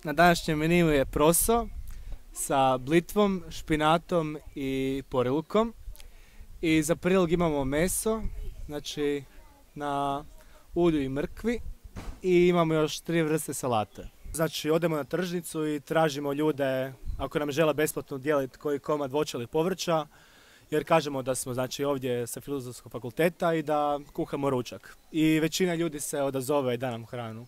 Na današnjem meniju je proso sa blitvom, špinatom i porilukom. I za prilog imamo meso, znači na ulju i mrkvi, i imamo još 3 vrste salate. Znači odemo na tržnicu i tražimo ljude ako nam žele besplatno dijeliti koji komad voća ili povrća, jer kažemo da smo znači ovdje sa Filozofskog fakulteta i da kuhamo ručak. I većina ljudi se odazove i da nam hranu.